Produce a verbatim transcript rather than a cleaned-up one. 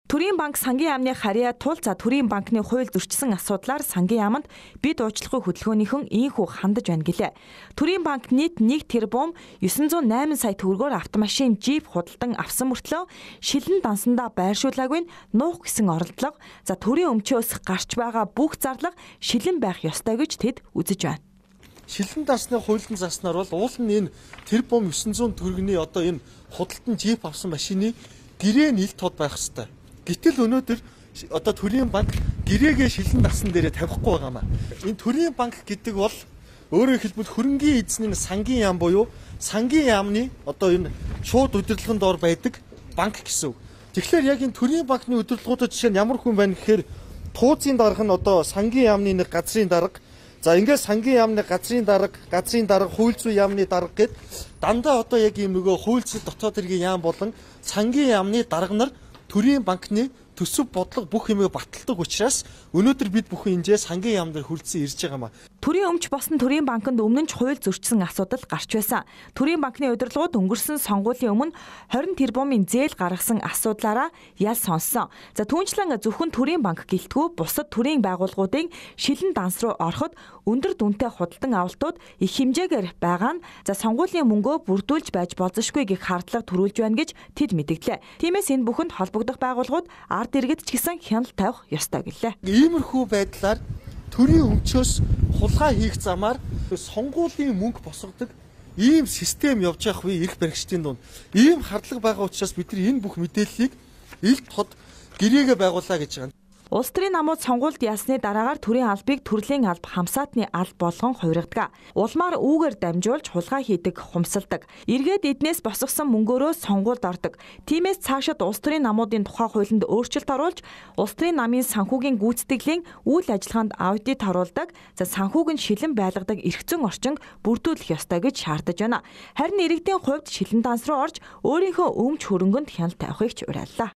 Төрийн банк сангийн яамны харьяа тул за Төрийн банкны хууль зөрчсөн асуудлаар сангийн яамд бид уучлахгүй хөдөлгөөнийхэн ийхүү хандаж байна гэлээ. Төрийн банк нийт нэг тэрбум девять нуу найман сая төгрөгөөр автомашин жип худалдан авсан мөртлөө шилэн дансандаа байршуулаагүй нуух гэсэн оролдлого за төрийн өмчөөс гарч байгаа бүх зарлага шилэн байх ёстой гэж тэд үзэж байна. Шилэн дансны хуулийн заснаар бол уул нь энэ тэрбум девять нуу төгрөгийн одоо энэ худалдан жип авсан машины гэрээ нийлт тод байх ёстой. Гэтэл өнөөдөр одоо Төрийн банк гэрээгээ шилэн дасан дээрээ тавихгүй байгаамаа. Энэ Төрийн банк гэдэг бол өөрөөр хэлбэл хөрөнгийн эзний сангийн яам буюу сангийн яамны одоо энэ шууд удирдлагын доор байдаг банк гэсэн үг. Тэгэхээр яг энэ Төрийн банкны удирдлагуудад жишээ нь ямар хүн байна гэхээр тууцын дарга нь одоо сангийн яамны нэг газрын дарга. За ингээд сангийн яамны газрын дарга, газрын дарга, хууль зүйн яамны дарга гэд дандаа одоо яг ийм нөгөө хууль зүйн дотоод хэргийн яам болон сангийн яамны дарга нар Төрийн банкны төсөв бодлого бүх юмыг баталдаг учраас өнөөдөр бид бүхэн энэ сангийн яам дээр хүрэлцэн ирж байгаамаа. Төрийн өмч босон Төрийн банкнд өмнө нь ч хууль зөрчсөн асуудал гарч байсан. Төрийн банкны удирдлагууд өнгөрсөн сонгуулийн өмнө двадцать тэрбумын зээл гаргасан асуудлаараа ял сонссон. За түүнчлэн зөвхөн Төрийн банк гэлтгүү бусад төрийн байгууллагуудын шилэн данс руу ороход өндөр дүнтэй худалдан авалтууд их хэмжээгээр байгаа нь за сонгуулийн мөнгөө бүрдүүлж байж болзошгүй гэх хардлага төрүүлж байна гэж тэд мэдгдлээ. Тиймээс энэ бүхэнд холбогдох байгууллагууд ард иргэд ч гэсэн хяналт тавих ёстой гэлээ. Иймэрхүү байдлаар төрийн өмчөөс хулгай хийх замаар сонгуулийн мөнгө босгодог ийм систем явж явах үе эрх баригчдын дунд ийм хардлага байгаа учраас бид нар энэ бүх мэдээллийг ил тод гэрээгээ байгууллаа гэж байна. Улс төрийн намууд сонгуульд ясны дараагаар төрийн албыг төрлийн алба хамсаатны алба болгон хувиргадаг. Улмаар үүгээр дамжуулж хулгай хийдэг, хумсалдаг. Эргээд эднээс босгосон мөнгөөрөө сонгуульд ордог. Тиймээс цаашид улс төрийн намуудын тухай хуулинд өөрчлөлт оруулж, улс төрийн намын санхүүгийн гүйцэтгэлийн үйл ажиллагаанд аудит харуулдаг. За санхүүг нь шилэн байлгадаг эрх зүйн орчинг бүрдүүлэх ёстой гэж шаардаж байна. Харин иргэдийн хувьд шилэн данс руу орж өөрийнхөө өмч хөрөнгөнд хяналт тавихыг ч уриаллаа.